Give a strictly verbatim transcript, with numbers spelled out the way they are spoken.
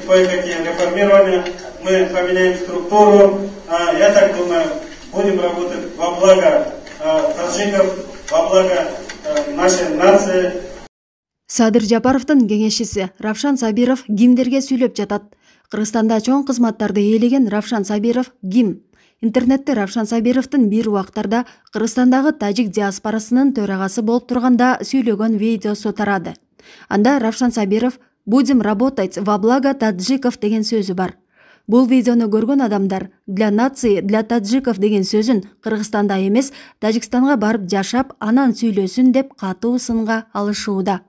кое-какие реформирования, мы поменяем структуру. Я так думаю, будем работать во благо таджиков, во благо нашей нации. Садыр Жапаровдун кеңешчиси Равшан Сабиров кимдерге сүйлөп жатат? Кыргызстанда чоң кызматтарды ээлеген Равшан Сабиров ким? Интернетте Равшан Сабировдун бир убактарда Кыргызстандагы тажик диаспорасынын төрагасы болуп турганда сүйлөгөн видеосу тарады. Анда Равшан Сабиров «Будем работать во благо таджиков» деген сөзү бар. Бул видеону көргөн адамдар «для нации, для таджиков» деген сөзүн Кыргызстанда эмес, Тажикстанга барып жашап, анан сүйлөсүн деп катуу сынга алышууда.